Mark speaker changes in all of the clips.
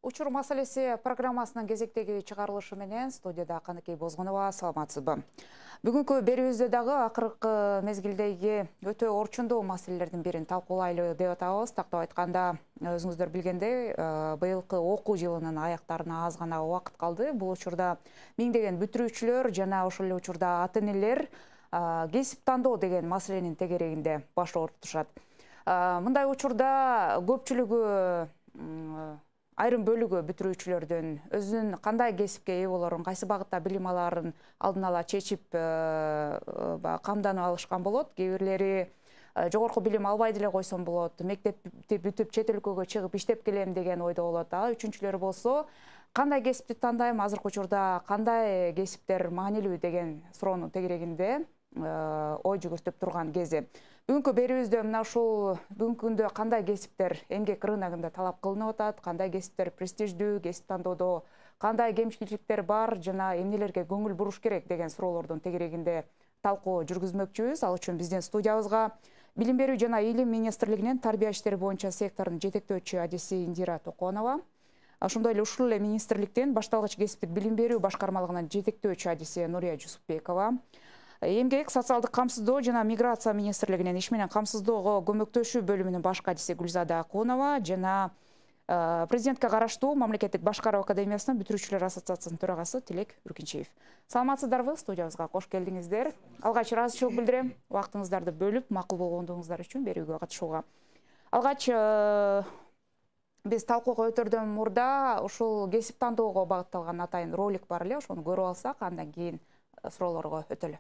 Speaker 1: Учур маселеси программасынын кезектеги чыгарылышы менен студияда Каныкей Бозгонова, саламатсызбы? Бүгүнкү берүүбүздө дагы акыркы мезгилдеги өтө орчундуу маселелердин бирин талкуулайлы деп атабыз. Тактап айтканда, өзүңүздөр билгендей, быйылкы окуу жылынын аяктарына аз гана убакыт калды. Бул учурда миңдеген бүтүрүүчүлөр жана ошол эле учурда ата-энелер кесип тандоо деген маселенин тегерегинде баш оорутушат. Мындай учурда көпчүлүгү айрым бөлүгү бүтүрүүчүлөрдүн өзүнүн кандай кесипке ээ болорун, кайсы багытта билим алаарын алдын ала чечип камданып алышкан болот. Кээ бирлери жогорку билим албай деле койсом болот, мектепти бүтүп чет өлкөгө чыгып иштеп келем деген ойдо болот. Үчүнчүлөр болсо, кандай кесипти тандайм, азыркы учурда кандай кесиптер маанилүү деген суроонун тегерегинде ой жүгүртүп турган кези. Бүгүнкү берүүбүздө мына ушул бүгүнкү күндө кандай кесиптер эмгек рыногунда талап кылынып атат, кандай кесиптер престиждүү, кесип тандоодо кандай кемчиликтер бар жана эмнелерге көңүл буруш керек деген суроолордун тегерегинде талкуу жүргүзмөкчүбүз. Ал үчүн биздин студиябызга Билим берүү жана Илим министрлигинин тарбия иштери боюнча секторунун жетектөөчү адиси Индира Токонова, ошондой эле ушул эле министрликтин башталгыч кесиптик билим берүү башкармалыгынын жетектөөчү адиси Нурия Жусупбекова, Эмгек, социалдык камсыздоо жана миграция министрлигинин иш менен камсыздоого көмөктөшүү бөлүмүнүн башкы адиси Гүлзада Акунова жана президентке караштуу Мамлекеттик башкаруу академиясынын бүтүрүүчүлөр ассоциациясынын төрагасы Тилек Үркүнчиев. Саламатсыздарбы? Студиябызга кош келдиңиздер. Алгач ыраазычылык билдирем, убактыңыздарды бөлүп, макул болгондугуңуздар үчүн берүүгө катышууга. Алгач биз талкууга өтөрдөн мурда ушул кесип тандоого багытталган атайын ролик бар эле, ошону көрүп алсак, андан кийин суроолорго өтөлү.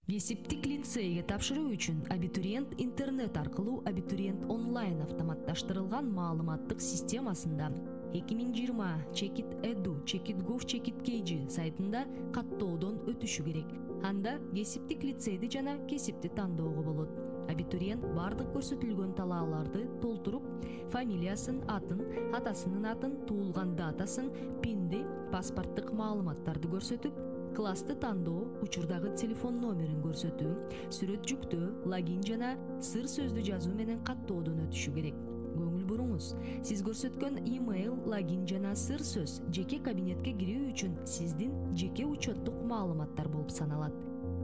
Speaker 2: Кесиптик лицейге тапшыруу үчүн абитуриент интернет аркылуу абитуриент онлайн автоматташтырылган маалыматтык системасында 2020 chekit.edu/chekit.gov/chekit.kg сайтында каттоодон өтүшү керек. Анда кесиптик лицейди жана кесипти тандоого болот. Абитуриент бардык көрсөтүлгөн талааларды толтуруп, фамилиясын, атын, атасынын атын, туулган датасын, пинди, паспорттук маалыматтарды көрсөтүп, классты тандоо, учурдагы телефон номерин көрсөтүү, сүрөт жүктөө, логин жана сыр сөздү жазуу менен каттоодон өтүшү керек. Көңүл буруңуз, сиз көрсөткөн имейл, логин жана сыр сөз жеке кабинетке кирүү үчүн сиздин жеке учеттук маалыматтар болуп саналат.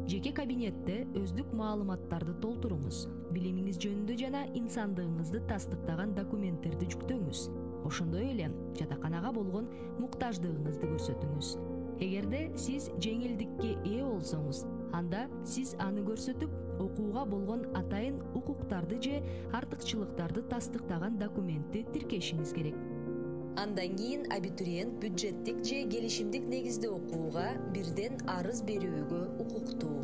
Speaker 2: Жеке кабинетте өздүк маалыматтарды толтуруңуз, билимиңиз жөнүндө жана инсандыгыңызды тастыктаган документтерди жүктөңүз. Ошондой эле жатаканага болгон муктаждыгыңызды көрсөтүңүз. Эгерде сиз жеңилдикке ээ болсоңуз, анда сиз аны көрсөтүп, окууга болгон атайын укуктарды же артыкчылыктарды тастыктаган документти тиркешиңиз керек. Андан кийин абитуриент бюджеттик же келишимдик негизде окууга бирден арыз берүүгө укуктуу.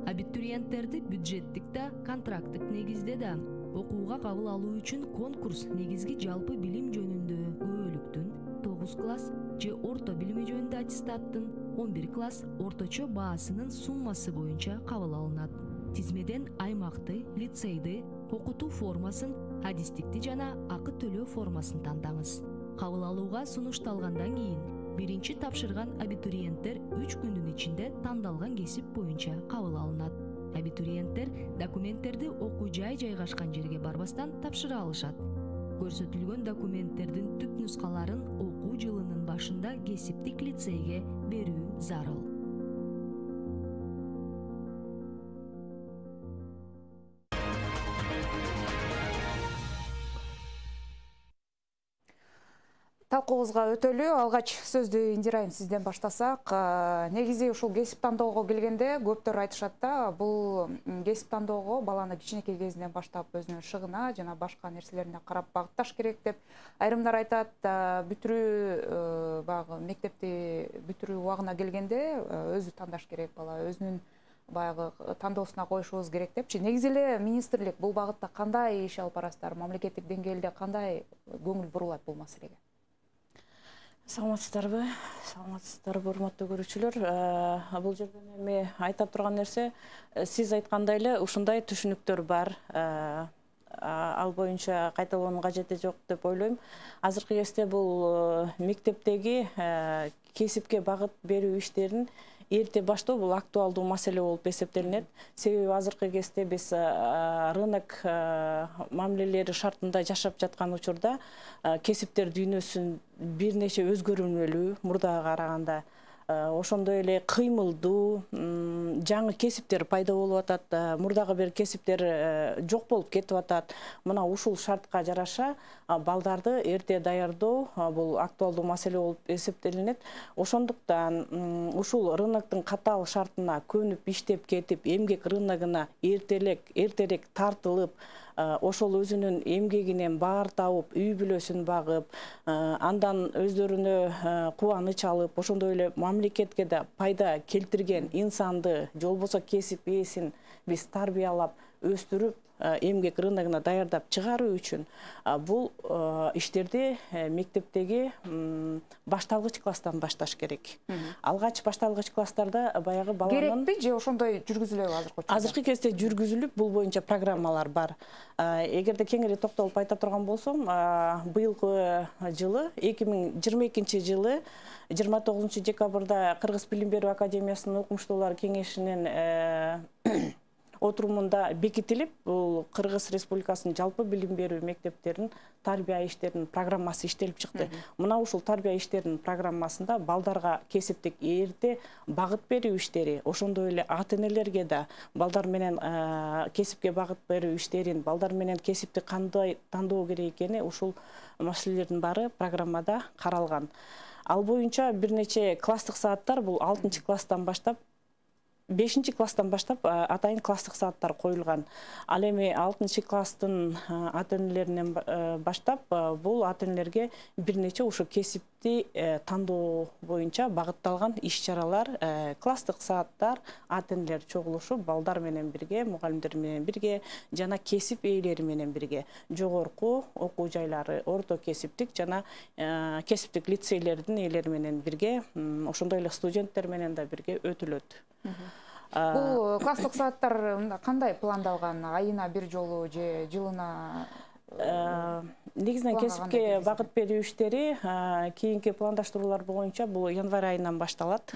Speaker 2: Абитуриенттерди бюджеттик да, контракттык негизде да окууга кабыл алуу үчүн конкурс негизги жалпы билим жөнүндө көбөлүктүн 9 класс же орто билими жөнүндө аттестаттын 11 класс орточо баасынын суммасы боюнча кабыл алынат. Тизмеден аймакты, лицейди, окутуу формасын, адистикти жана акы төлөө формасын тандаңыз. Кабыл алууга сунушталгандан кийин биринчи тапшырган абитуриенттер 3 күндүн ичинде тандалган кесип боюнча кабыл алынат. Абитуриенттер документтерди окуу жай жайгашкан жерге барбастан тапшыра алышат. Көрсөтүлгөн документтердин түп нускаларын окуу жылынын башында кесиптик лицейге берүү зарыл.
Speaker 1: Талкуубузга өтөлү. Алгач сөздү Индира айым сизден баштасак, негизи ушул кесип тандоого келгенде көптөр айтышат да, бул кесип тандоого баланы кичинекей кезинен баштап өзүнүн шыгына жана башка нерселерине карап багытташ керек деп. Айрымдар айтат, бүтүрүү баягы мектепти бүтүрүү убагына келгенде өзү тандаш керек бала, өзүнүн баягы тандоосуна коюшубуз керек депчи. Негизи эле министрлик бул багытта кандай иш алып барасыздар? Мамлекеттик деңгээлде кандай көңүл бурулат бул маселеге?
Speaker 3: Саламатсыздарбы? Саламатсыздарбы, урматтуу көрүүчүлөр. Бул жерден эми айта турган нерсе, сиз айткандай эле ушундай түшүнүктөр бар. Ал боюнча кайталоонун кажети жок деп ойлойм. Азыркы кезде бул мектептеги кесипке багыт берүү иштерин эрте баштоо бул актуалдуу маселе болуп эсептелинет. Себеби азыркы кезде биз рынок мамилелери шартында жашап жаткан учурда кесиптер дүйнөсүн бир нече өзгөрүлмөлүү мурдага караганда. Ошондой эле кыймылдуу жаңы кесиптер пайда болуп атат. Мурдагы бир кесиптер жок болуп кетип атат. Мына ушул шартка жараша балдарды эрте даярдоо бул актуалдуу маселе болуп эсептелинет. Ошондуктан ушул рыноктун катаал шартына көнүп иштеп кетип, эмгек рыногуна эртерээк тартылып, ошол өзүнүн эмгегинен баар табып, үй бүлөсүн багып, андан өздөрүнө кубаныч алып, ошондой эле мамлекетке да пайда келтирген инсанды, же болбосо кесип ээсин биз тарбиялап, өстүрүп, эмгек рыногуна даярдап чыгаруу үчүн бул иштерди мектептеги башталгыч класстан башташ керек. Алгач башталгыч класстарда баягы баланын
Speaker 1: керекпи же ошондой жүргүзүлөбү азыркы учурда?
Speaker 3: Азыркы кезде жүргүзүлүп, бул боюнча программалар бар. Эгерде кеңири токтолуп айта турган болсом, быйылкы жылы 2022 жылы 29 декабрда Кыргыз билим берүү академиясынын окумуштуулар кеңешинин отурумунда бекитилип, бул Кыргыз Республикасынын жалпы билим берүү мектептеринин тарбия иштеринин программасы иштелип чыкты. Мына ушул тарбия иштеринин программасында балдарга кесиптик эрте багыт берүү иштери, ошондой эле ата-энелерге да балдар менен кесипке багыт берүү иштерин, балдар менен кесипти кандай тандоо керек экени ушул маселелердин баары программада каралган. Ал боюнча бир нече класстык сааттар, бул 6 класстан баштап 5 класстан баштап атайын класстык сааттар коюлган. Ал эми 6 класстын ата-энелеринен баштап бул ата-энелерге бир нече ушу кесипти тандоо боюнча багытталган иш-чаралар, класстык сааттар, ата-энелер чогулушуп, балдар менен бирге, мугалимдер менен бирге жана кесип ээлери менен бирге жогорку окуу жайлары, орто кесиптик жана кесиптик лицейлердин ээлери менен бирге, ошондой эле студенттер менен да бирге өтүлөт.
Speaker 1: Бул класстык сааттар кандай пландалган? Айына бир жолу же жылына?
Speaker 3: Негизинен кесипке багыт берүү иштери кийинки пландаштыруулар боюнча бул январь айынан башталат.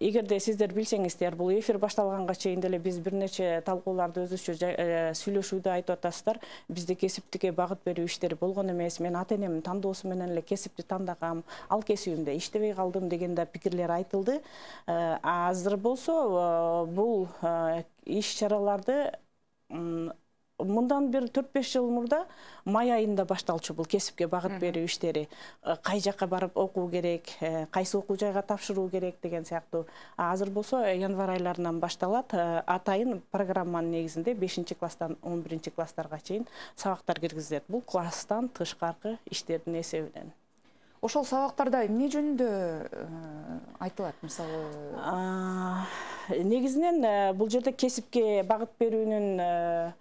Speaker 3: Эгерде сиздер билсеңиздер, бул эфир башталганга чейин деле биз бир нече талкууларды өзүчө сүйлөшүүдө айтып атасыздар. Бизде кесиптикке багыт берүү иштери болгон эмес. Мен ата-энемдин тандоосу менен эле кесипти тандагам, ал кесибимде иштебей калдым деген да пикирлер айтылды. Азыр болсо бул иш-чараларды мындан бир 4-5 жыл мурда май айында башталчу бул кесипке багыт берүү иштери. Кай жакка барып окуу керек, кайсы окуу жайга тапшыруу керек деген сыяктуу. Азыр болсо январь айларынан башталат. Атайын программанын негизинде 5 класстан 11 класстарга чейин сабактар киргизилет. Бул класстан тышкаркы иштердин эсебинен.
Speaker 1: Ошол сабактарда эмне жөнүндө айтылат, мисалы?
Speaker 3: Негизинен бул жерде кесипке багыт берүүнүн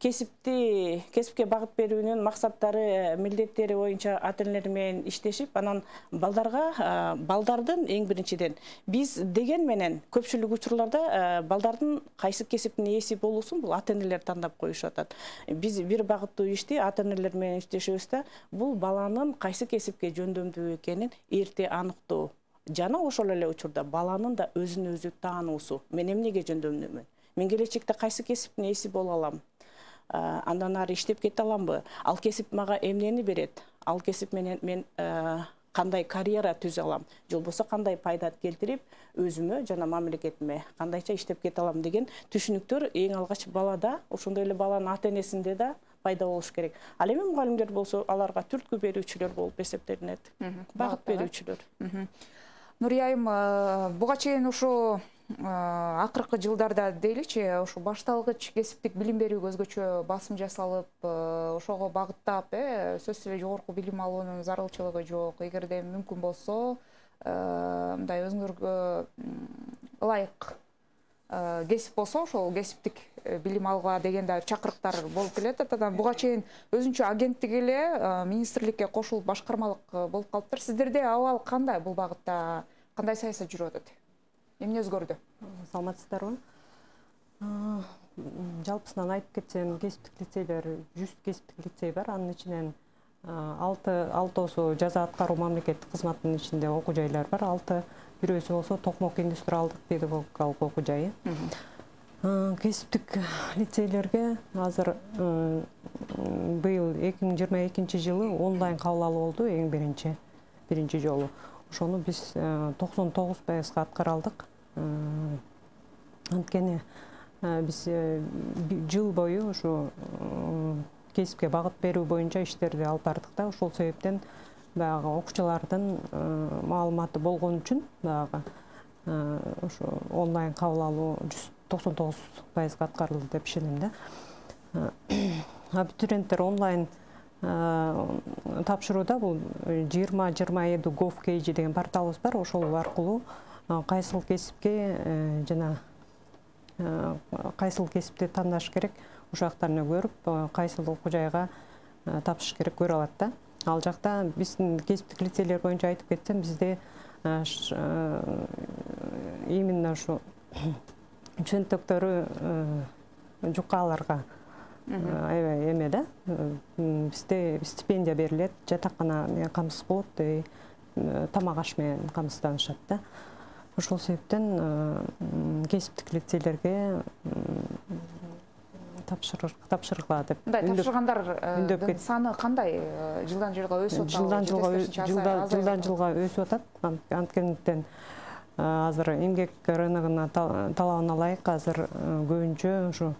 Speaker 3: кесипке багыт берүүнүн максаттары, милдеттери боюнча ата-энелер менен иштешип, анан балдардын эң биринчиден биз деген менен көпчүлүк учурларда балдардын кайсы кесиптин ээси болуусун бул ата-энелер тандап коюшуп атат. Биз бир багыттуу ишти ата-энелер менен иштешебиз да, бул баланын кайсы кесипке жөндөмдүү экенин эрте аныктоо. Жана ошол эле учурда баланын да өзүн өзү таануусу. Мен эмнеге жөндөмдүүмүн? Мен келечекте кайсы кесиптин ээси боло алам? Андан ары иштеп кете аламбы? Ал кесип мага эмнени берет? Ал кесип менен мен кандай карьера түзө алам? Же болбосо кандай пайда келтирип, өзүмө жана мамлекетиме кандайча иштеп кете алам деген түшүнүктөр эң алгач балада, ошондой эле баланын ата-энесинде да пайда болуш керек. Ал эми мугалимдер болсо аларга түрткү берүүчүлөр болуп эсептелинет. Багыт берүүчүлөр.
Speaker 1: Нурия айым, буга чейин ушу акыркы жылдарда дейличи, ушу башталгыч кесиптик билим берүүгө өзгөчө басым жасалып, ошого багыттап, сөзсүз эле жогорку билим алуунун зарылчылыгы жок. Эгерде мүмкүн болсо, мындай өзүңөргө ылайык кесип болсо, ошол кесиптик билим алууга деген да чакырыктар болуп келет. Анан буга чейин өзүнчө агенттик эле министрликке кошулуп башкармалык болуп калыптыр. Сиздерде абал кандай бул багытта? Кандай саясат жүрүп атат? Эмне өзгөрдү?
Speaker 4: Саламатсыздарбы? Жалпысынан айтып кетсем, кесиптик лицейлер 100 кесиптик лицей бар. Анын ичинен алтоосу жаза аткаруу мамлекеттик кызматтын ичинде окуу жайлар бар. 6 болсо Токмок индустриалдык педагогикалык окуу жайы. Кесиптик лицейлерге азыр быйыл 2022 жылы онлайн кабыл алуу болду, эң биринчи жолу. Ошону биз 99% аткара алдык. Анткени биз жыл бою ушу кесипке багыт берүү боюнча иштерди алып бардык да, ошол себептен баягы окуучулардын маалыматы болгон үчүн баягы ушу онлайн кабыл алуу 99% аткарылды деп ишенем да. Абитуриенттер онлайн тапшырууда бул 2027 gov.kg деген порталыбыз бар. Ошол аркылуу кайсыл кесипке жана кайсыл кесипти тандаш керек, ошол жактарына көрүп, кайсыл окуу жайга тапшырыш керек көрө алат да. Ал жакта биздин кесиптик лицейлер боюнча айтып кетсем, бизде именно ушу чөнтөктөрү жукаларга аябай эме да. Бизде стипендия берилет, жатакана менен камсыз болот, тамак аш менен камсызданышат да. Ошол себептен кесиптик лицейлерге тапшыргыла деп.
Speaker 1: Тапшыргандардын саны кандай? Жылдан жылга өсүп атат?
Speaker 4: Жылдан жылга өсүп атат. Анткенден азыр эмгек рыногуна талабына ылайык азыр көбүнчө ушу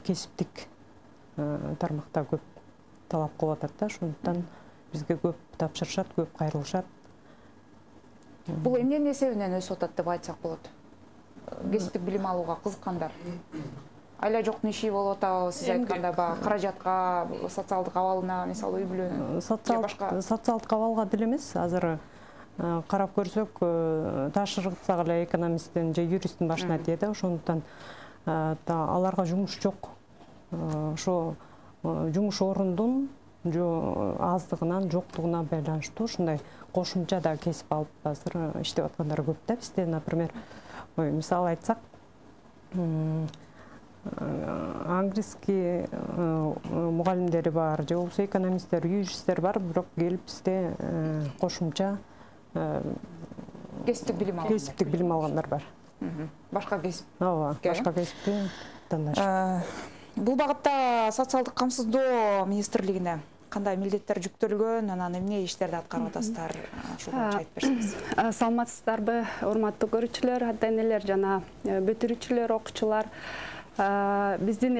Speaker 4: кесиптик тармакта көп талап кылып атат да. Ошондуктан бизге көп тапшырышат, көп кайрылышат.
Speaker 1: Бул эмненин эсебинен өсүп атат деп айтсак болот? Кесиптик билим алууга кызыккандар. Айла жоктун иши болуп атабы, сиз айткандай баягы каражатка, социалдык абалына, мисалы үй бүлөнүн
Speaker 4: социалдык абалга деле эмес, азыр карап көрсөк, ташыргытсак эле экономисттин же юристтин башына тие да. Ошондуктан аларга жумуш жок. Ошо жумуш орундун аздыгынан, жоктугуна байланыштуу ушундай кошумча да кесип алып азыр иштеп аткандар көп да. Бизде, например, мисал айтсак, английский мугалимдери бар, же болбосо экономисттер, юристтер бар, бирок келип бизде кошумча
Speaker 1: кесиптик
Speaker 4: билим алгандар бар.
Speaker 1: Башка кесип.
Speaker 4: Ооба, башка кесипти тандашып.
Speaker 1: Бул багытта социалдык камсыздоо министрлигине кандай милдеттер жүктөлгөн, анан эмне иштерди аткарып атасыздар? Ушул боюнча айтып берсеңиз.
Speaker 5: Саламатсыздарбы, урматтуу көрүүчүлөр, ата-энелер жана бүтүрүүчүлөр, окуучулар. Биздин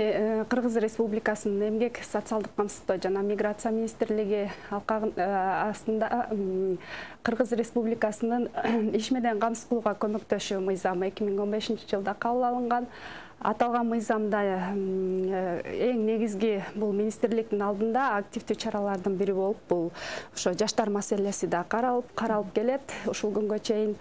Speaker 5: Кыргыз Республикасынын эмгек, социалдык камсыздоо жана миграция министрлиги астында Кыргыз Республикасынын иш менен камсыз кылууга көмөктөшүү мыйзамы 2015 жылда кабыл алынган. Аталган мыйзамда эң негизги бул министрликтин алдында активдүү чаралардын бири болуп, бул ошо жаштар маселеси да каралып келет. Ушул күнгө чейин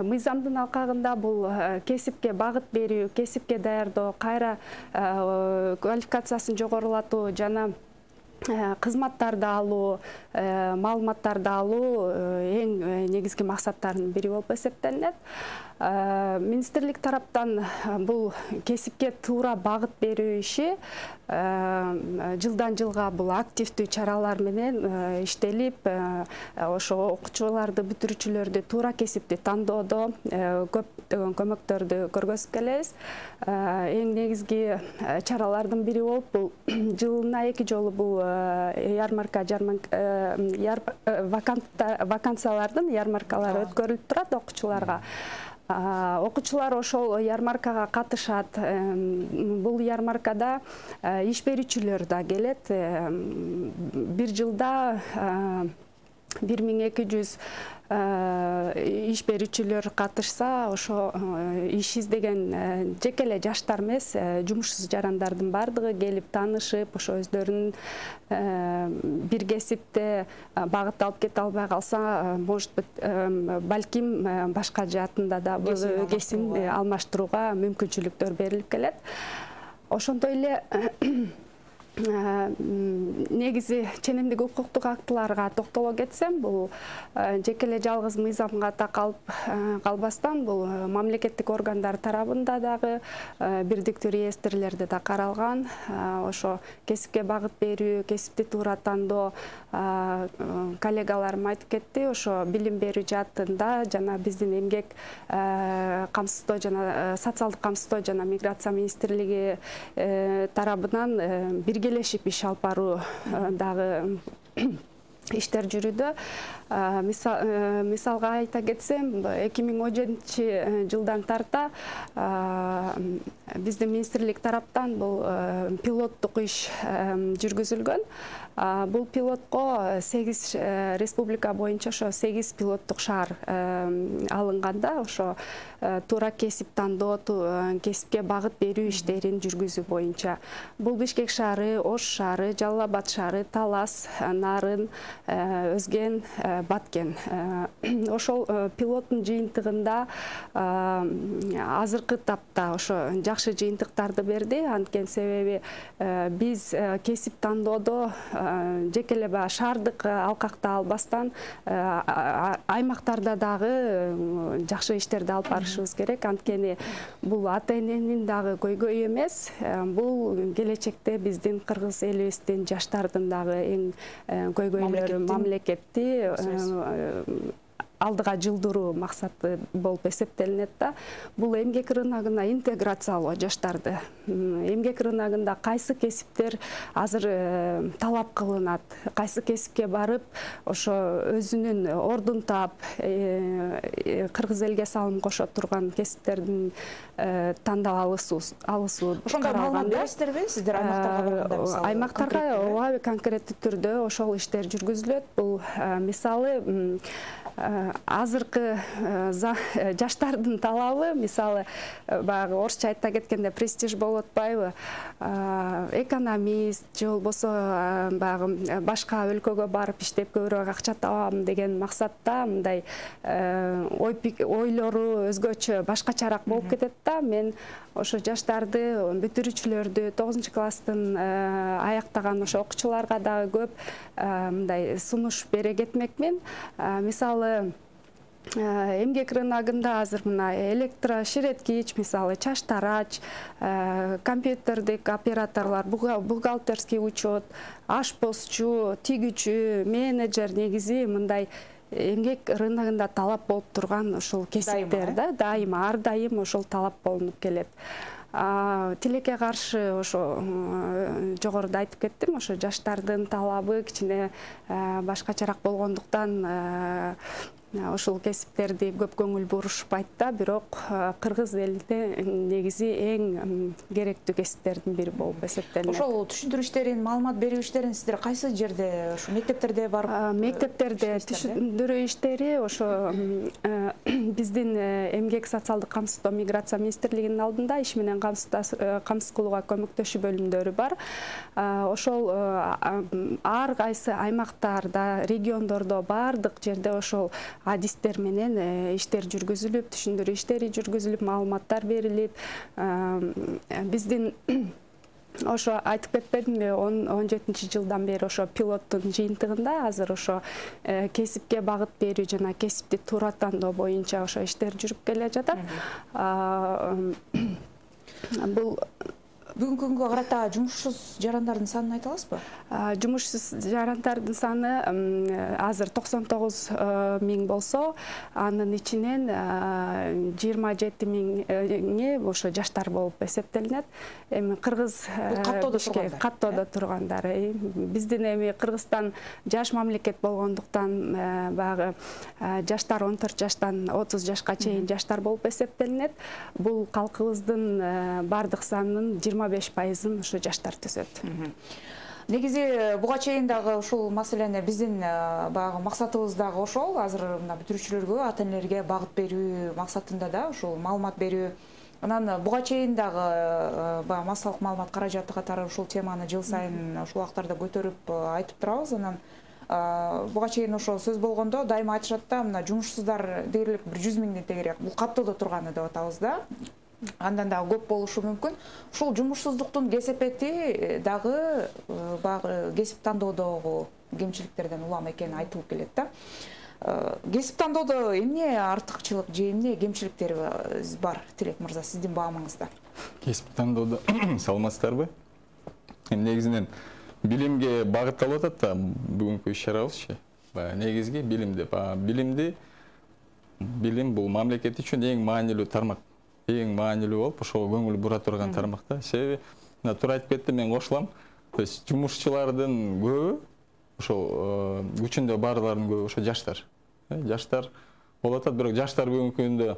Speaker 5: мыйзамдын алкагында бул кесипке багыт берүү, кесипке даярдоо, кайра квалификациясын жогорулатуу жана кызматтарды алуу, маалыматтарды алуу эң негизги максаттардын бири болуп эсептелинет. Министрлик тараптан бул кесипке туура багыт берүү иши жылдан жылга бул активдүү чаралар менен иштелип, ошо окуучуларды, бүтүрүүчүлөрдү туура кесипти тандоодо көптөгөн көмөктөрдү көргөзүп келебиз. Эң негизги чаралардын бири болуп, бул жылына 2 жолу бул вакансиялардын ярмаркалары өткөрүлүп турат окуучуларга. Окуучулар ошол ярмаркага катышат. Бул ярмаркада иш берүүчүлөр да келет. Бир жылда 1200 иш берүүчүлөр катышса, ошо иш издеген жеке эле жаштар эмес, жумушсуз жарандардын бардыгы келип таанышып, ошо өздөрүнүн бир кесипте багыт алып кете албай калса, может быть, балким башка жаатында да кесип алмаштырууга мүмкүнчүлүктөр берилип келет. Ошондой эле негизи ченемдик укуктук актыларга токтоло кетсем, бул жеке эле жалгыз мыйзамга такалып калбастан бул мамлекеттик органдар тарабында дагы бирдиктүү реестрлерде да каралган. Ошо кесипке багыт берүү, кесипти туура тандоо, коллегаларым айтып кетти, ошо билим берүү жаатында жана биздин эмгек камсыздоо жана социалдык камсыздоо жана миграция министрлиги тарабынан биргелешип иш алып баруу дагы иштер жүрүүдө. Мисалга айта кетсем, 2017 жылдан тарта биздин министрлик тараптан бул пилоттук иш жүргүзүлгөн. Бул пилотко 8 республика боюнча ошо 8 пилоттук шаар алынганда, ошо туура кесип тандоо, кесипке багыт берүү иштерин жүргүзүү боюнча. Бул Бишкек шаары, Ош шаары, Жалал Абад шаары, Талас, Нарын, Өзген, Баткен. Ошол пилоттун жыйынтыгында азыркы тапта ошо жакшы жыйынтыктарды берди. Анткени себеби биз кесип тандоодо жеке эле шаардык алкакта албастан аймактарда дагы жакшы иштерди алып барышыбыз керек. Анткени бул ата эненин дагы көйгөйү эмес. Бул келечекте биздин кыргыз элибиздин жаштардын дагы эң көйгөйлөрү, мамлекетти алдыга жылдыруу максаты болуп эсептелинет да. Бул эмгек рыногуна интеграциялоо жаштарды. Эмгек рыногунда кайсы кесиптер азыр талап кылынат, кайсы кесипке барып, ошо өзүнүн ордун таап, кыргыз элге салым кошо турган кесиптердин тандап алысуу.
Speaker 1: Ошондой маалымат бересиздерби сиздер аймактарга барганда?
Speaker 5: Аймактарга ооба конкреттүү түрдө ошол иштер жүргүзүлөт. Бул мисалы азыркы жаштардын талабы, мисалы баягы орусча айта кеткенде престиж болуп атпайбы, экономист же болбосо баягы башка өлкөгө барып иштеп көбүрөөк акча табам деген максатта мындай ойлору өзгөчө башкачараак болуп кетет да. Мен ошо жаштарды, бүтүрүүчүлөрдү, 9 класстын аяктаган ошо окуучуларга дагы көп мындай сунуш бере кетмекмин. Мисалы эмгек рыногунда азыр мына электроширеткич, мисалы чач тарач, компьютердик операторлор, бухгалтерский учет, ашпозчу, тигүүчү, менеджер негизи мындай эмгек рыногунда талап болуп турган ошол кесиптер да, дайыма, ар дайым ошол талап болунуп келет. Тилекке каршы ошо жогоруда айтып кеттим, ошо жаштардын талабы кичине башкачараак болгондуктан ошол кесиптерди көп көңүл бурушпайт да, бирок кыргыз элинде негизи эң керектүү кесиптердин бири болуп эсептелинет.
Speaker 1: Ошол түшүндүрүү иштерин, маалымат берүү иштерин сиздер кайсы жерде, ошо мектептерде барып?
Speaker 5: Мектептерде түшүндүрүү иштери ошо биздин эмгек социалдык камсыздоо миграция министрлигинин алдында иш менен камсыз кылууга көмөктөшүү бөлүмдөрү бар. Ошол ар кайсы аймактарда, региондордо бардык жерде ошол адистер менен иштер жүргүзүлүп, түшүндүрүү иштери жүргүзүлүп, маалыматтар берилип, биздин ошо айтып кетпедимби, 17 жылдан бери ошо пилоттун жыйынтыгында азыр ошо кесипке багыт берүү жана кесипти туура тандоо боюнча ошо иштер жүрүп келе жатат. Бул
Speaker 1: бүгүнкү күнгө карата жумушсуз жарандардын санын айта аласызбы?
Speaker 5: Жумушсуз жарандардын саны азыр 99 миң болсо, анын ичинен 27 миңи ошо жаштар болуп эсептелинет. Эми кыргыз каттоодо тургандар. Биздин эми Кыргызстан жаш мамлекет болгондуктан баягы жаштар 14 жаштан 30 жашка чейин жаштар болуп эсептелинет. Бул калкыбыздын бардык санынын 25%-ын ошо жаштар түзөт.
Speaker 1: Негизи буга чейин дагы ушул маселени биздин баягы максатыбыз дагы ошол. Азыр мына бүтүрүүчүлөргө, ата энелерге багыт берүү максатында да ушул маалымат берүү. Анан буга чейин дагы баягы массалык маалымат каражаты катары ушул теманы жыл сайын ушул убактарда көтөрүп айтып турабыз. Анан буга чейин ошо сөз болгондо дайыма айтышат да, мына жумушсуздар дээрлик 100 миңден тегерээк бул каттоодо турганы деп атабыз да. андан дагы көп болушу мүмкүн. Ушул жумушсуздуктун кесепети дагы баягы кесип тандоодогу кемчиликтерден улам экени айтылып келет да. Кесип тандоодо эмне артыкчылык же эмне кемчиликтери бар, Тилек мырза, сиздин баамыңызда?
Speaker 6: Кесип тандоодо саламатсыздарбы? Негизинен билимге багытталып атат да бүгүнкү иш-чарабызчы. Негизги билимди билим бул мамлекет үчүн эң маанилүү тармак. Эң маанилүү болуп, ошого көңүл бура турган тармак да. Себеби туура айтып кеттим, мен кошулам. То есть жумушчулардын көбү ошо күчүндө барларынын көбү ошо жаштар. Жаштар болуп атат, бирок жаштар бүгүнкү күндө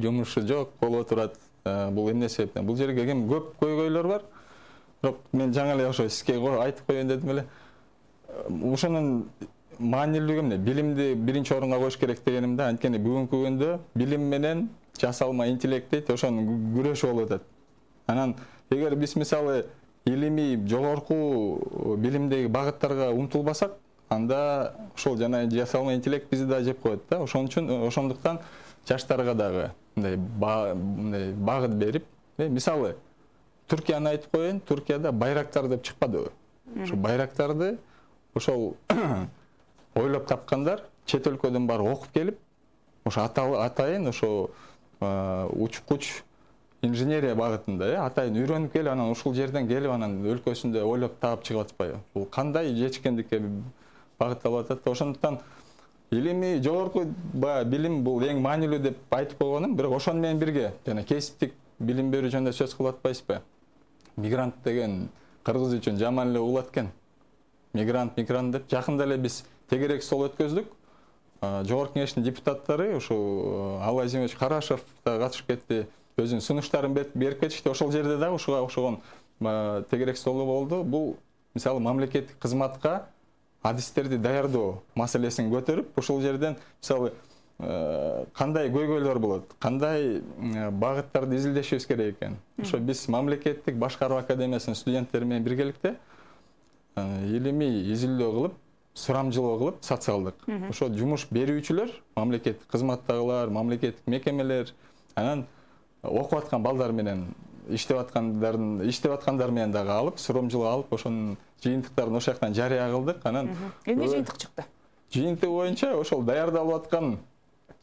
Speaker 6: жумушу жок болуп турат. Бул эмне себептен? Бул жерге кем көп көйгөйлөр бар. Бирок мен жаңы эле ошо сизге айтып коеюн дедим эле. Ошонун маанилүүлүгү эмне? Билимди биринчи орунга коюш керек дегеним да. Анткени бүгүнкү күндө билим менен жасалма интеллект дейт, ошонун күрөшү болуп атат. Анан эгер биз мисалы илимий жогорку билимдеги багыттарга умтулбасак, анда ошол жана жасалма интеллект бизди да жеп коет да. Ошондуктан жаштарга дагы мындай багыт берип, мисалы Түркияны айтып коеюн, Түркияда байрактар деп чыкпадыбы? Ошо байрактарды ошол ойлоп тапкандар, чет өлкөдөн барып окуп келип, ошо атайын ошо учкуч инженерия багытында, атайын үйрөнүп келип, анан ушул жерден келип, анан өлкөсүндө ойлоп таап чыгып атпайбы? Бул кандай жетишкендикке багытталып атат? Ошондуктан илимий жогорку билим бул эң маанилүү деп айтып койгонум, бирок ошону менен бирге жана кесиптик билим берүү жөнүндө сөз кылып атпайсызбы? Мигрант деген кыргыз үчүн жаман эле угулат экен. Мигрант деп жакында эле биз тегерек стол өткөздүк. Жогорку кеңештин депутаттары ушул Владимирович Карашев да катышып кетти. Өзүнүн сунуштарын берип кетишти. Ошол жерде дагы ошого тегерек столу болду. Бул мисалы мамлекеттик кызматка адистерди даярдоо маселесин көтөрүп, ушул жерден мисалы кандай көйгөйлөр болот, кандай багыттарды изилдешибиз керек экен. Ошо биз мамлекеттик башкаруу академиясынын студенттери менен биргеликте илимий изилдөө кылып, сурамжылоо кылып сатып алдык. Ошо жумуш берүүчүлөр, мамлекеттик кызматтагылар, мамлекеттик мекемелер, анан окуп аткан балдар менен иштеп аткандар менен дагы алып, сурамжылоо алып, ошонун жыйынтыктарын ошол жактан жарыя кылдык. Анан
Speaker 1: эмне жыйынтык чыкты?
Speaker 6: Жыйынтыгы боюнча ошол даярдалып аткан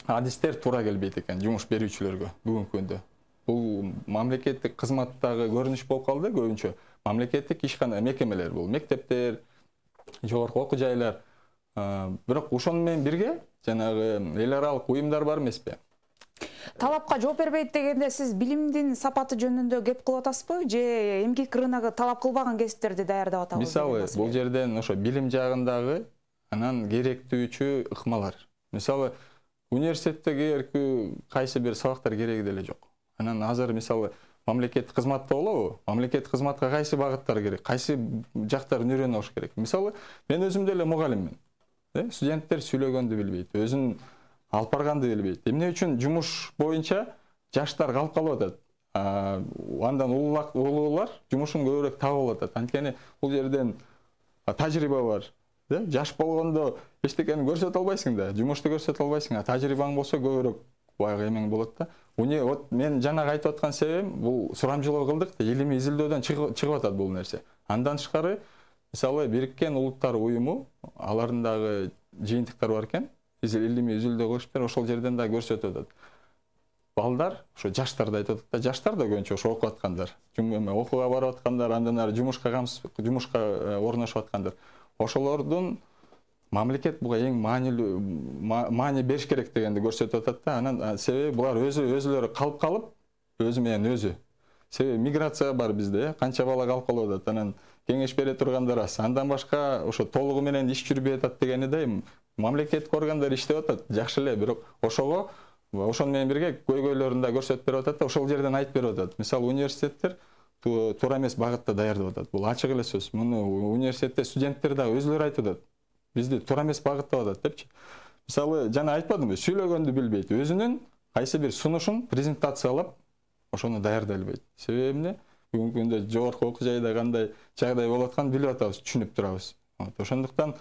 Speaker 6: адистер туура келбейт экен жумуш берүүчүлөргө бүгүнкү күндө. Бул мамлекеттик кызматтагы көрүнүш болуп калды көбүнчө. Мамлекеттик ишкана мекемелер бул, мектептер, жогорку окуу жайлар. Бирок ошону менен бирге жанагы эл аралык уюмдар бар эмеспи?
Speaker 1: Талапка жооп бербейт дегенде сиз билимдин сапаты жөнүндө кеп кылып атасызбы же эмгек рыногу талап кылбаган кесиптерди даярдап атабыз?
Speaker 6: Мисалы бул жерден ошо билим жагындагы анан керектүүчү ыкмалар. Мисалы университеттеги кайсы бир сабактар кереги деле жок. Анан азыр мисалы мамлекеттик кызматта болобу? Мамлекеттик кызматка кайсы багыттар керек? Кайсы жактарын үйрөнүп алыш керек? Мисалы мен өзүм деле мугалиммин. Студенттер сүйлөгөндү билбейт, өзүн алып барганды билбейт. Эмне үчүн жумуш боюнча жаштар калып калып атат? Андан улуулар жумушун көбүрөөк таап атат. Анткени бул жерден тажрыйба бар. Жаш болгондо эчтекени көрсөтө албайсың да, жумушту көрсөтө албайсың. Тажрыйбаң болсо көбүрөөк баягы эмең болот да. Мен жанагы айтып аткан себебим бул сурамжылоо кылдык да, илимий изилдөөдөн чыгып атат бул нерсе. Андан тышкары мисалы Бириккен Улуттар уюму, аларындагы жыйынтыктар бар экен. Илимий изилдөө кылышыптыр, ошол жерден да көрсөтүп атат. Балдар, ошо жаштарды айтып атат да, жаштар да көбүнчө ошо окуп аткандар, окууга барып аткандар, андан ары жумушка орношуп аткандар. Ошолордун мамлекет буга эң маани бериш керек дегенди көрсөтүп атат да. Анан себеби булар өзүлөрү калып, өзү менен өзү. Себеби миграция бар бизде, канча бала калып калып атат. Анан кеңеш бере тургандар аз. Андан башка ошо толугу менен иш жүрбөй атат дегени да, мамлекеттик органдар иштеп атат, жакшы эле, бирок ошону менен бирге көйгөйлөрүн да көрсөтүп берип атат да, ошол жерден айтып берип атат. Мисалы университеттер туура эмес багытта даярдап атат. Бул ачык эле сөз. Муну университетте студенттер да өзүлөрү айтып атат. Бизди туура эмес багыттап атат депчи. Мисалы жана айтпадымбы, сүйлөгөндү билбейт. Өзүнүн кайсы бир сунушун презентациялап, ошону даярдай албайт. Себеби эмне? Бүгүнкү күндө жогорку окуу жайда кандай жагдай болуп атканын билип атабыз, түшүнүп турабыз. Ошондуктан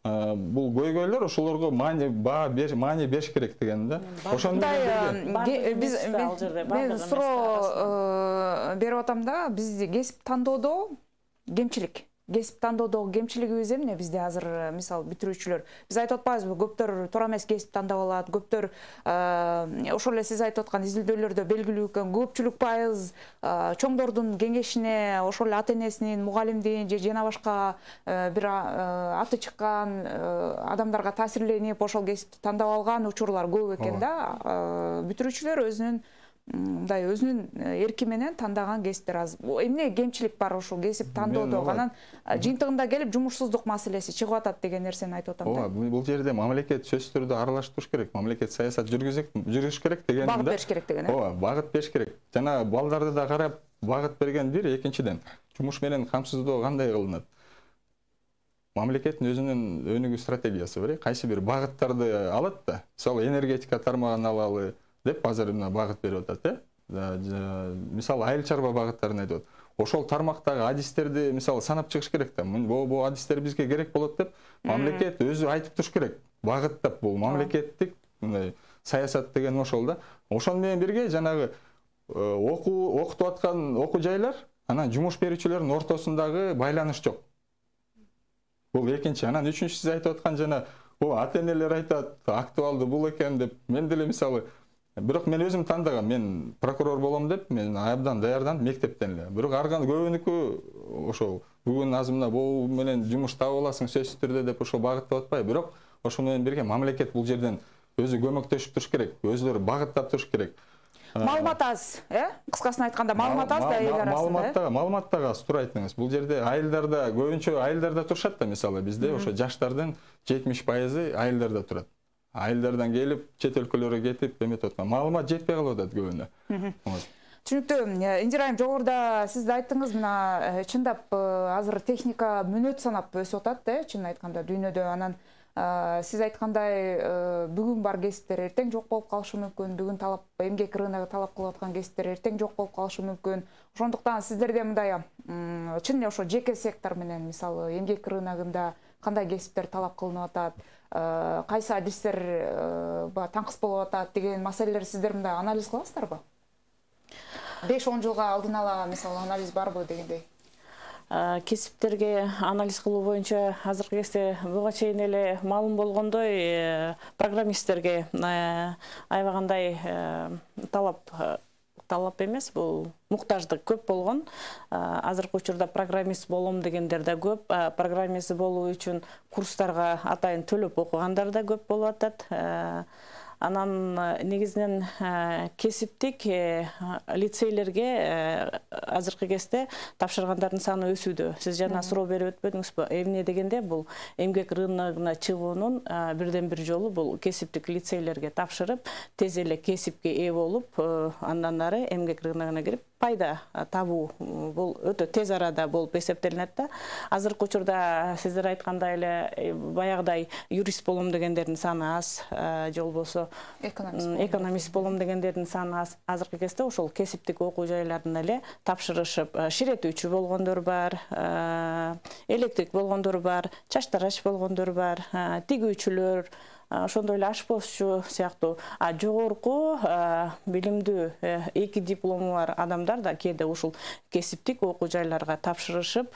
Speaker 6: бул көйгөйлөр ошолорго маани бериш керек деген да.
Speaker 1: Ошондой мен суроо берип атам да, бизде кесип тандоодо кесип тандоодогу кемчилигибиз эмне бизде азыр, мисалы бүтүрүүчүлөр, биз айтып атпайбызбы, көптөр туура эмес кесип тандап алат, көптөр ошол эле сиз айтып аткан изилдөөлөрдө белгилүү экен, көпчүлүк пайыз чоңдордун кеңешине, ошол эле ата энесинин, мугалимдин же жана башка бир аты чыккан адамдарга таасирленип ошол кесипти тандап алган учурлар көп экен да. Бүтүрүүчүлөр өзүнүн эрки менен тандаган кесиптер аз. Эмне кемчилик бар ошол кесип тандоодо? Анан жыйынтыгында келип жумушсуздук маселеси чыгып атат деген нерсени айтып атам да.
Speaker 6: Бул жерде мамлекет сөзсүз түрдө аралашып туруш керек. Мамлекет саясат жүргүзүш керек деген да.
Speaker 1: Багыт бериш керек деген.
Speaker 6: Багыт бериш керек. Жана балдарды да карап багыт берген бир, экинчиден жумуш менен камсыздоо кандай кылынат? Мамлекеттин өзүнүн өнүгүү стратегиясы бар. Кайсы бир багыттарды алат да. Мисалы энергетика тармагын алалы деп азыр мына багыт берип атат, мисалы айыл чарба багыттарын айтып атат. Ошол тармактагы адистерди мисалы санап чыгыш керек да. Бул адистер бизге керек болот деп мамлекет өзү айтып туруш керек. Багыттап бул мамлекеттик саясат деген ошол да. Ошол менен бирге жанагы окутуп аткан окуу жайлар, анан жумуш берүүчүлөрдүн ортосундагы байланыш жок. Бул экинчи. Анан үчүнчү, сиз айтып аткан жана ата энелер айтат, актуалдуу бул экен деп. Мен деле мисалы, бирок мен өзүм тандагам, мен прокурор болом деп, мен абдан даярданып мектептен эле. Бирок арган көбүнүкү ошол бүгүн азымына бул менен жумуш таап аласың сөзсүз түрдө деп ошол багыттап атпайбы. Бирок ошол менен бирге мамлекет бул жерден өзү көмөктөшүп туруш керек, өзүлөрү багыттап туруш керек.
Speaker 1: Маалымат аз, кыскасын айтканда маалымат аз да эл арасында.
Speaker 6: Маалымат да аз, туура айттыңыз. Бул жерде айылдарда көбүнчө айылдарда турушат да, мисалы бизде ошо жаштардын 70% айылдарда турат. Айылдардан келип, чет өлкөлөргө кетип, эметип аткан. Маалымат жетпей калып атат көбүнө.
Speaker 1: Түшүнүктүү. Индира айым, жогоруда сиз да айттыңыз, мына чындап азыр техника мүнөт санап өсүп атат, чын айтканда дүйнөдө. Анан сиз айткандай бүгүн бар кесиптер эртең жок болуп калышы мүмкүн. Бүгүн эмгек рыногу талап кылып аткан кесиптер эртең жок болуп калышы мүмкүн. Ошондуктан сиздерде мындай чын эле ошо жеке сектор менен, мисалы эмгек рыногунда кандай кесиптер талап кылынып атат, кайсы адистер таңкыс болуп атат деген маселелер сиздер мындай анализ кыласыздарбы? 5-10 жылга алдын ала мисалы анализ барбы дегендей?
Speaker 3: Кесиптерге анализ кылуу боюнча азыркы кезде буга чейин эле маалым болгондой программисттерге аябагандай талап эмес, бул муктаждык көп болгон. Азыркы учурда программист болом дегендер да көп, программист болуу үчүн курстарга атайын төлөп окугандар да көп болуп атат. Анан негизинен кесиптик лицейлерге азыркы кезде тапшыргандардын саны өсүүдө. Сиз жана суроо берип өтпөдүңүзбү? Эмне дегенде бул эмгек рыногуна чыгуунун бирден бир жолу бул кесиптик лицейлерге тапшырып, тез эле кесипке ээ болуп, андан ары эмгек рыногуна кирип пайда табуу. Бул өтө тез арада болуп эсептелинет да. Азыркы учурда сиздер айткандай эле баягыдай юрист болом дегендердин саны аз, же болбосо экономист болом дегендердин саны аз. Азыркы кезде ошол кесиптик окуу жайларына эле тапшырышып, ширетүүчү болгондор бар, электрик болгондор бар, чач тарач болгондор бар, тигүүчүлөр, ошондой эле ашпозчу сыяктуу жогорку билимдүү 2 диплому бар адамдар да кээде ушул кесиптик окуу жайларга тапшырышып,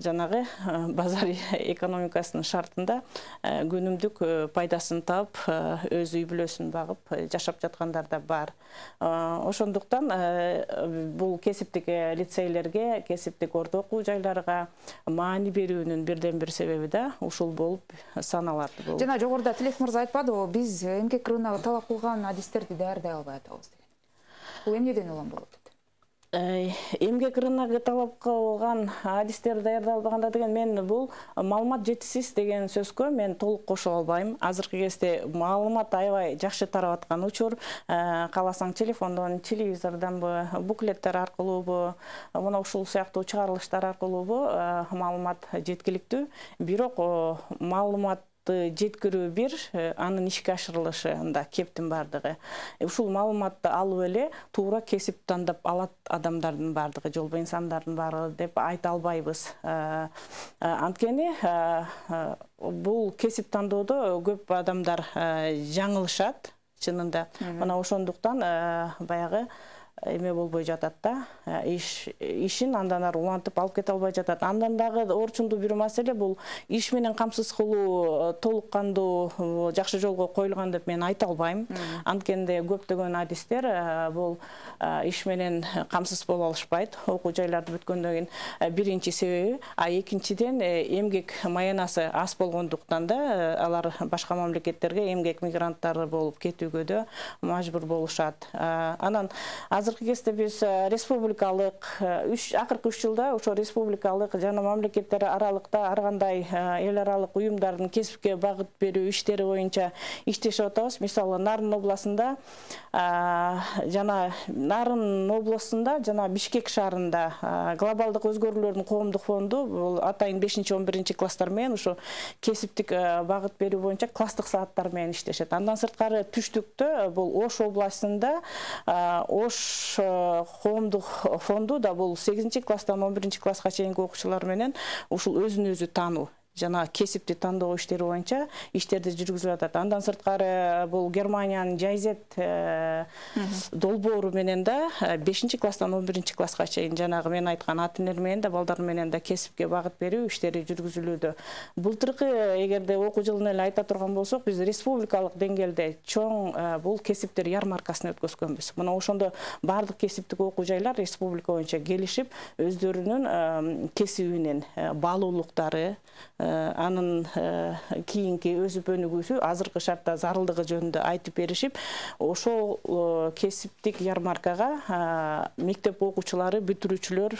Speaker 3: жанагы базар экономикасынын шартында күнүмдүк пайдасын таап, өз үй бүлөсүн багып жашап жаткандар да бар. Ошондуктан бул кесиптик лицейлерге, кесиптик орто окуу жайларга маани берүүнүн бирден бир себеби да ушул болуп саналат.
Speaker 1: Жана жогоруда Тилек мырза айтпадыбы, биз эмгек рыногу талап кылган адистерди даярдай албай атабыз деген. Бул эмнеден улам болот?
Speaker 3: Эмгек рыногу талап кылган адистерди даярдай албаганда деген, мен бул маалымат жетишсиз деген сөзгө мен толук кошула албайм. Азыркы кезде маалымат аябай жакшы тарап аткан учур. Кааласаң телефондон, телевизордонбу, буклеттер аркылуубу, мына ушул сыяктуу чыгарылыштар аркылуубу маалымат жеткиликтүү. Бирок маалымат маалыматты жеткирүү бир, анын ишке ашырылышында кептин бардыгы. Ушул маалыматты алып эле туура кесип тандап алат адамдардын бардыгы, жолбо инсандардын бардыгы деп айта албайбыз. Анткени бул кесип тандоодо көп адамдар жаңылышат чынында. Мына ошондуктан баягы эме болбой жатат да, ишин андан ары улантып алып кете албай жатат. Андан дагы орчундуу бир маселе бул иш менен камсыз кылуу толук кандуу жакшы жолго коюлган деп мен айта албайм. Анткенде көптөгөн адистер бул иш менен камсыз боло алышпайт. Окуу жайларды бүткөндөн кийин биринчи себеби, экинчиден эмгек маянасы аз болгондуктан да алар башка мамлекеттерге эмгек мигранттары болуп кетүүгө да мажбур болушат. Анан азыркы кезде биз республикалык акыркы 3 жылда ошо республикалык жана мамлекеттер аралыкта ар кандай эл аралык уюмдардын кесипке багыт берүү иштери боюнча иштешип атабыз. Мисалы Нарын областында жана Бишкек шаарында глобалдык өзгөрүүлөрдүн коомдук фонду бул атайын 5-11 класстар менен ошо кесиптик багыт берүү боюнча класстык сааттар менен иштешет. Андан сырткары түштүктө бул Ош областында Ош коомдук фонду да бул 8 класстан 11 класска чейинки окуучулар менен ушул өзүн өзү таануу жана кесипти тандоо иштери боюнча иштерди жүргүзүп атат. Андан сырткары бул Германиянын Жайзет долбоору менен да 5 класстан 11 класска чейин жанагы мен айткан ата-энелер менен да балдар менен да кесипке багыт берүү иштери жүргүзүлүүдө. Былтыркы эгерде окуу жылын эле айта турган болсок, биз республикалык деңгээлде чоң бул кесиптер ярмаркасын өткөзгөнбүз. Мына ошондо бардык кесиптик окуу жайлар республика боюнча келишип, өздөрүнүн кесибинин баалуулуктары, анын кийинки өсүп өнүгүүсү, азыркы шартта зарылдыгы жөнүндө айтып беришип, ошол кесиптик ярмаркага мектеп окуучулары, бүтүрүүчүлөр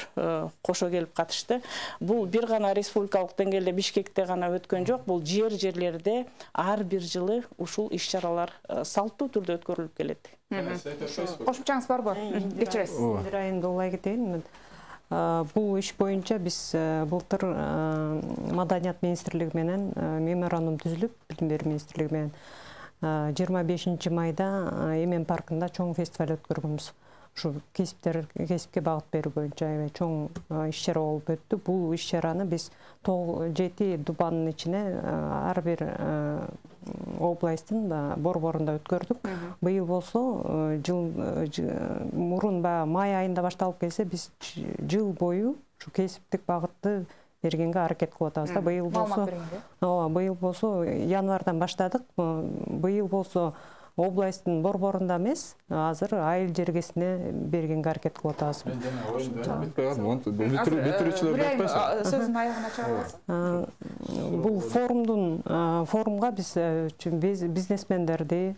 Speaker 3: кошо келип катышты. Бул бир гана республикалык деңгээлде Бишкекте гана өткөн жок, бул жерлерде ар бир жылы ушул иш-чаралар салттуу түрдө өткөрүлүп келет.
Speaker 1: Кошумчаңыз барбы? Кечиресиз.
Speaker 4: Бир айында улай кетейин. Бул иш боюнча биз былтыр Маданият министрлиги менен меморандум түзүлүп, Билим берүү министрлиги менен 25 майда Эмен паркында чоң фестиваль өткөргөнбүз. Ушу кесипке багыт берүү боюнча чоң иш-чара болуп өттү. Бул иш-чараны биз 7 дубанын ичине ар бир областтын борборунда өткөрдүк. Быйыл болсо мурун май айында башталып келсе, биз жыл бою ушу кесиптик багытты бергенге аракет кылып атабыз да. Быйыл болсо январдан баштадык. Быйыл болсо областтын борборунда эмес, азыр айыл жергесине бергенге аракет кылып атабыз.
Speaker 1: Сөзүн аягына чыгарасыз.
Speaker 4: Бул форумга биз бизнесмендерди,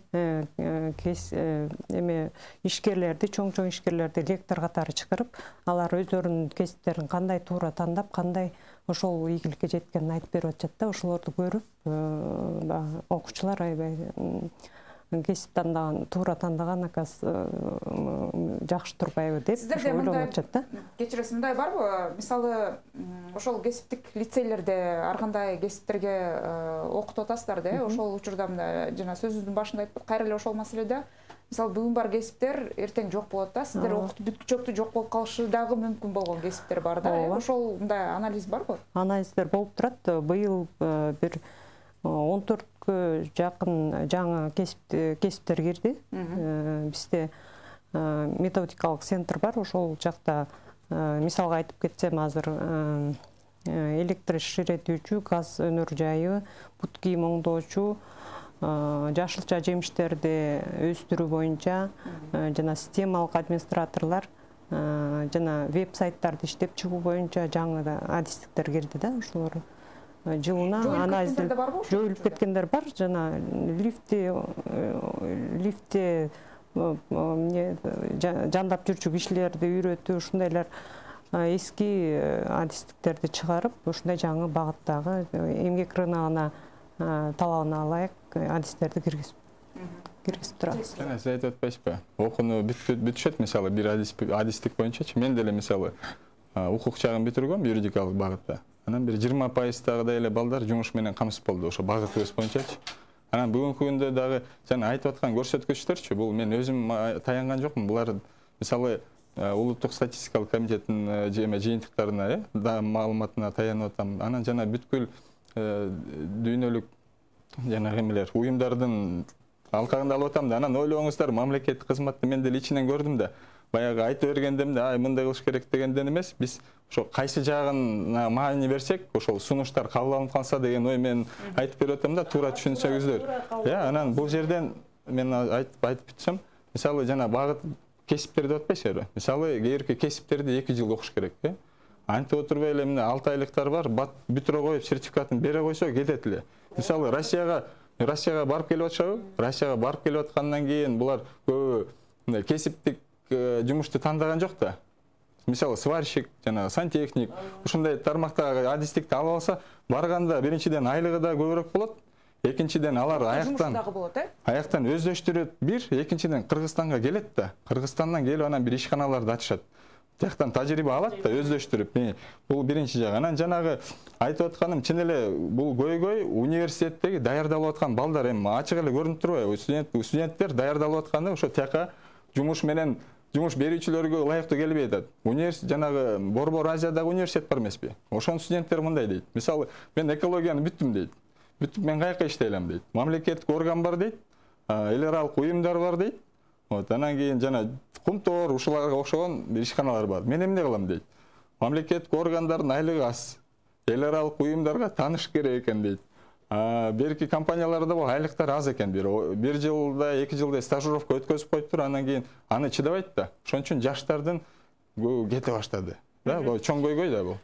Speaker 4: ишкерлерди, чоң ишкерлерди лектор катары чакырып, алар өздөрүнүн кесиптерин кандай туура тандап, кандай ошол ийгиликке жеткенин айтып берип атышат да. Ошолорду көрүп, окуучулар аябай кесип тандаган, туура тандаган акас жакшы турбайбы деп ойлонуп атышат да.
Speaker 1: Кечиресиз, мындай барбы? Мисалы, ошол кесиптик лицейлерде ар кандай кесиптерге окутуп атасыздар да, ошол учурда жана сөзүбүздүн башында айттык, кайра эле ошол маселеде мисалы бүгүн бар кесиптер эртең жок болот да. Сиздер окутуп бүткүчөктү жок болуп калышы дагы мүмкүн болгон кесиптер бар да. Ошол мындай анализ барбы?
Speaker 4: Анализдер болуп турат. Быйыл бир 14-кө жакын жаңы кесиптер кирди. Бизде методикалык центр бар. Ошол жакта мисалга айтып кетсем, азыр электрширетүүчү, газ өнөр жайы, бут кийим оңдоочу, жашылча жемиштерди өстүрүү боюнча жана системалык администраторлор жана веб-сайттарды иштеп чыгуу боюнча жаңы адистиктер кирди да. Ошолор жылына жоюлуп кеткендер бар. Жана лифтте жандап жүрчү кишилерди үйрөтүү, ушундайлар эски адистиктерди чыгарып, ушундай жаңы багыттагы эмгек рыногуна талабына ылайык адистерди киргизип турабыз.
Speaker 6: Сиз айтып атпайсызбы? Окууну бүтүшөт, мисалы бир адистик боюнчачы. Мен деле мисалы укук чагын бүтүргөм юридикалык багытта. Анан бир 20%дагы эле балдар жумуш менен камсыз болду, ошо багытыбыз боюнчачы. Анан бүгүнкү күндө дагы жана айтып аткан көрсөткүчтөрчү, бул мен өзүм таянган жокмун. Булар мисалы улуттук статистикалык комитеттин жыйынтыктарына, маалыматына таянып атам. Анан жана бүткүл дүйнөлүк жана эмелер, уюмдардын алкагында алып атам да. Анан ойлооңуздар, мамлекеттик кызматты мен деле ичинен көрдүм да. Баягы айтып бергендемде, мындай кылыш керек дегенден эмес, биз ошо кайсы жагына маани берсек, ошол сунуштар кабыл алынып калса деген ой мен айтып берип атам да, туура түшүнсөңүздөр. Анан бул жерден мен айтып бүтсөм, мисалы жана багыт кесиптер деп атпайсызбы? Мисалы кээерки кесиптерди 2 жыл окуш керек, антип отурбай эле мына 6 айлыктар бар, бүтүрө коюп сертификатын бере койсо кетет эле. Мисалы Россияга барып келип атышабы? Россияга барып келип аткандан кийин булар көбү кесиптик жумушту тандаган жок да. Мисалы сварщик жана сантехник ушундай тармактагы адистикти алып алса, барганда биринчиден айлыгы да көбүрөөк болот. Экинчиден алар аяктан өздөштүрөт бир, экинчиден Кыргызстанга келет да. Кыргызстандан келип анан бир ишканаларды ачышат. Тияктан тажрыйба алат да, өздөштүрүп. Бул биринчи жагы. Анан жанагы айтып атканым чын эле бул көйгөй университеттеги даярдалып аткан балдар эми ачык эле көрүнүп турбайбы? Студенттер даярдалып атканда ошо тияка жумуш менен жумуш берүүчүлөргө ылайыктуу келбей атат. Университет жанагы Борбор Азиядагы университет бар эмеспи? Ошонун студенттери мындай дейт. Мисалы, мен экологияны бүттүм дейт. Бүтүп мен каяка иштей алам дейт. Мамлекеттик орган бар дейт. Эл аралык уюмдар бар дейт. Анан кийин жана Кумтор ушуларга окшогон ишканалар бар. Мен эмне кылам дейт. Мамлекеттик органдардын айлыгы аз. Эл аралык уюмдарга тааныш керек экен дейт. Берки компанияларда бул айлыктар аз экен. Бир жылда, 2 жылда стажировка өткөзүп коюптур, анан кийин аны чыдабайт да. Ошон үчүн жаштардын кете баштады. Бул чоң көйгөй да бул.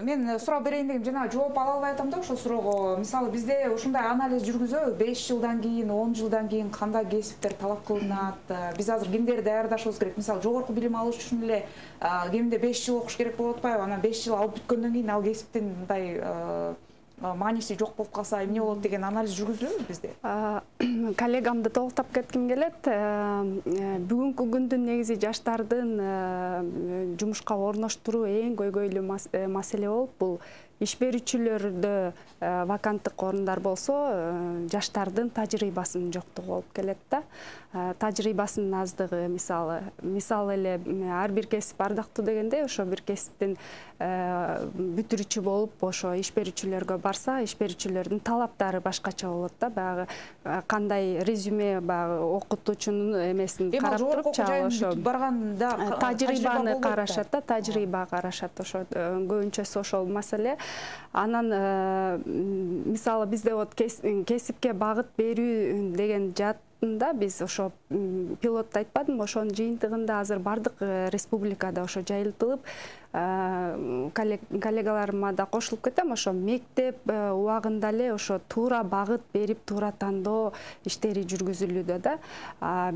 Speaker 1: Мен суроо берейин дегем, жана жооп ала албай атам да ошол суроого. Мисалы бизде ушундай анализ жүргүзөбү, 5 жылдан кийин, 10 жылдан кийин кандай кесиптер талап кылынат? Биз азыр кимдерди даярдашыбыз керек? Мисалы жогорку билим алыш үчүн эле кеминде 5 жыл окуш керек болуп атпайбы? Анан 5 жыл алып бүткөндөн кийин ал кесиптин мындай мааниси жок болуп калса эмне болот деген анализ жүргүзүлөбү бизде?
Speaker 5: Коллегамды толуктап кетким келет. Бүгүнкү күндүн негизи жаштардын жумушка орноштуруу эң көйгөйлүү маселе болуп, бул иш берүүчүлөрдө ваканттык орундар болсо, жаштардын тажрыйбасынын жоктугу болуп келет да. Тажрыйбасынын аздыгы, мисалы эле ар бир кесип ардактуу дегенде, ошо бир кесиптин бүтүрүүчү болуп, ошо иш берүүчүлөргө барса, иш берүүчүлөрдүн талаптары башкача болот да. Баягы кандай резюме, баягы окутуучунун эмесин карап туруп, ошо барганда тажрыйбаны карашат да, тажрыйба карашат. Ошо көбүнчөсү ошол маселе. Анан мисалы бизде вот кесипке багыт берүү деген жаатында биз ошо пилотто айтпадымбы, ошонун жыйынтыгында азыр бардык республикада ошо жайылтылып, коллегаларыма да кошулуп кетем, ошо мектеп убагында эле ошо туура багыт берип, туура тандоо иштери жүргүзүлүүдө да.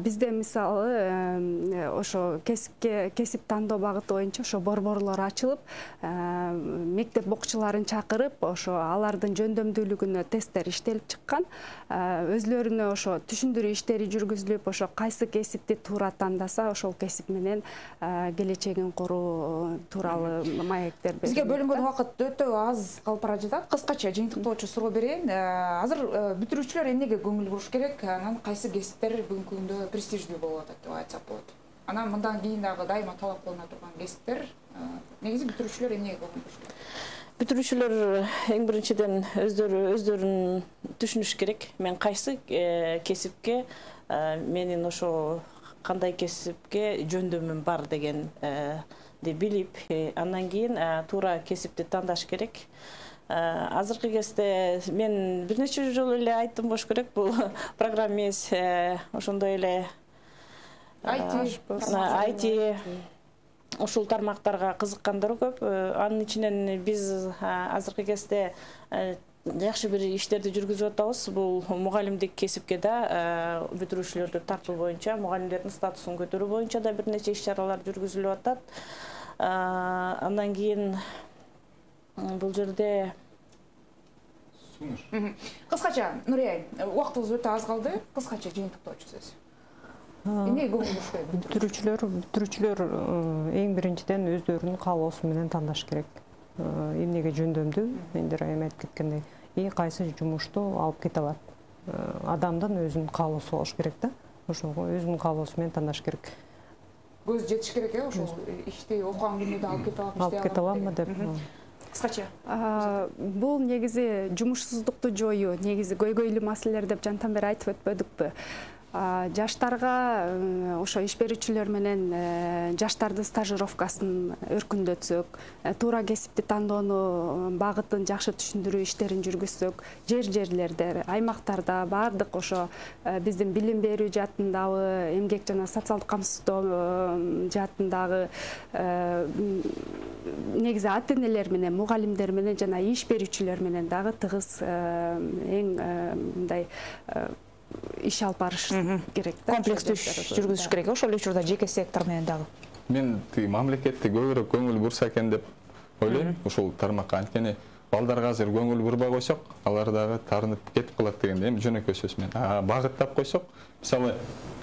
Speaker 5: Бизде мисалы ошо кесип тандоо багыты боюнча ошо борборлор ачылып, мектеп окуучуларын чакырып, ошо алардын жөндөмдүүлүгүнө тесттер иштелип чыккан. Өзлөрүнө ошо түшүндүрүү иштери жүргүзүлүп, ошо кайсы кесипти туура тандаса, ошол кесип менен келечегин куруу маектер берилет. Бизге
Speaker 1: бөлүнгөн убакыт өтө аз калып бара жатат. Кыскача жыйынтыктоочу суроо берейин. Азыр бүтүрүүчүлөр эмнеге көңүл буруш керек? Анан кайсы кесиптер бүгүнкү күндө престиждүү болуп атат деп айтсак болот? Анан мындан кийин дагы дайыма талап кылына турган кесиптер, негизи бүтүрүүчүлөр эмнеге көңүл буруш керек?
Speaker 3: Бүтүрүүчүлөр эң биринчиден өздөрүн түшүнүш керек. Мен кайсы кесипке, менин ошо кандай кесипке жөндөмүм бар деген билип, андан кийин туура кесипти тандаш керек. Азыркы кезде мен бир нече жолу эле айттым болуш керек, бул программист, ошондой эле IT ушул тармактарга кызыккандар көп. Анын ичинен биз азыркы кезде жакшы бир иштерди жүргүзүп атабыз. Бул мугалимдик кесипке да бүтүрүүчүлөрдү тартуу боюнча, мугалимдердин статусун көтөрүү боюнча да бир нече иш-чаралар жүргүзүлүп атат. Андан кийин бул жерде
Speaker 1: кыскача, Нурия, убактыбыз өтө аз калды. Кыскача жыйынтыктоочу сөз. Эмнеге көңүл буруш керек?
Speaker 4: Бүтүрүүчүлөр эң биринчиден өздөрүнүн каалоосу менен тандаш керек. эмнеге жөндөмдүү Индира айым айтып кеткендей, и кайсы жумушту алып кете алат. Адамдын өзүнүн каалоосу болуш керек да. Ошого өзүнүн каалоосу менен тандаш керек.
Speaker 1: Көз жетиш керек ошол ишти окуган күнүдө алып кете алам,
Speaker 4: алып кете аламбы деп.
Speaker 1: Кыскача.
Speaker 5: Бул негизи жумушсуздукту жоюу, негизи көйгөйлүү маселелер деп жантан бери айтып өтпөдүкпү. Жаштарга ошо иш берүүчүлөр менен жаштардын стажировкасын өркүндөтсөк, туура кесипти тандоонун багытын жакшы түшүндүрүү иштерин жүргүзсөк, жерлерде, аймактарда баардык ошо биздин билим берүү жаатындагы, эмгек жана социалдык камсыздоо жаатындагы негизи ата-энелер менен, мугалимдер менен жана иш берүүчүлөр менен дагы тыгыз эң мындай иш алып барыш керек да.
Speaker 1: Комплекстүү иш жүргүзүш керек. Ошол эле учурда жеке сектор менен дагы.
Speaker 6: Мен мамлекетте көбүрөөк көңүл бурса экен деп ойлойм ушул тармакка. Анткени балдарга азыр көңүл бурбай койсок, алар дагы тарынып кетип калат дегенде эми жөнөкөй сөз менен. Багыттап койсок, мисалы,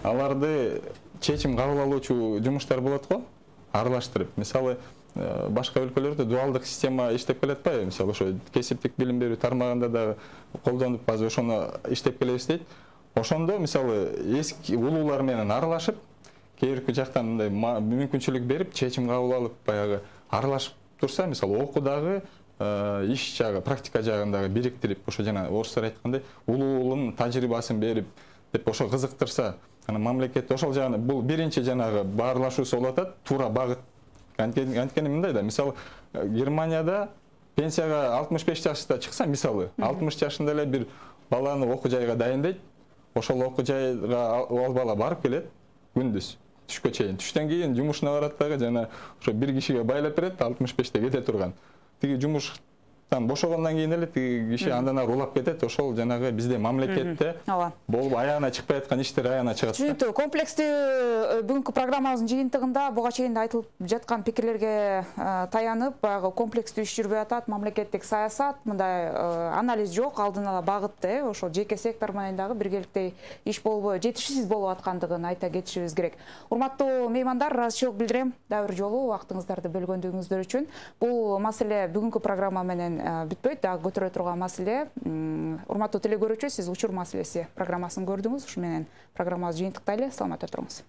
Speaker 6: аларды чечим кабыл алуучу жумуштар болот го, аралаштырып. Мисалы, башка өлкөлөрдө дуалдык система иштеп келе атпайбы? Мисалы, ошо кесиптик билим берүү тармагында дагы колдонуп, азыр ошону иштеп келебиз дейт. Ошондо, мисалы, эски улуулар менен аралашып, кээрки жактан мындай мүмкүнчүлүк берип, чечим кабыл алып, баягы аралашып турса, мисалы, окуудагы иш жагы, практика жагындагы бириктирип, ошо жана орустар айткандай, улуунун тажрыйбасын берип, деп ошо кызыктырса, анан мамлекет ошол жагына бул биринчи жанагы баарлашуусу болуп атат, туура багыт. Анткени мындай да, мисалы, Германияда пенсияга 65 жашта чыкса, мисалы, 60 жашында эле бир баланы окуу жайга дайындайт. Ошол окуу жайга ал бала барып келет күндүз, түшкө чейин. Түштөн кийин жумушуна барат дагы жана ошо бир кишиге байлап берет, 65те кете турган. Тиги жумуштан бошогондон кийин эле тиги киши андан ары улап кетет. Ошол жанагы бизде мамлекетте болуп аягына чыкпай аткан иштер аягына чыгат.
Speaker 1: Түшүнүктүү. Комплекстүү бүгүнкү программабыздын жыйынтыгында буга чейин айтылып жаткан пикирлерге таянып, баягы комплекстүү иш жүрбөй атат, мамлекеттик саясат, мындай анализ жок, алдын ала багытты, ошол жеке сектор менен дагы биргеликте иш болбой, жетишсиз болуп аткандыгын айта кетишибиз керек. Урматтуу меймандар, ыраазычылык билдирем дагы бир жолу убактыңыздарды бөлгөндүгүңүздөр үчүн. Бул маселе бүгүнкү программа менен бүтпөйт, дагы көтөрө турган маселе. Урматтуу телекөрүүчү, сиз учур маселеси программасын көрдүңүз. Ушу менен программабызды жыйынтыктайлы. Саламатта туруңуз.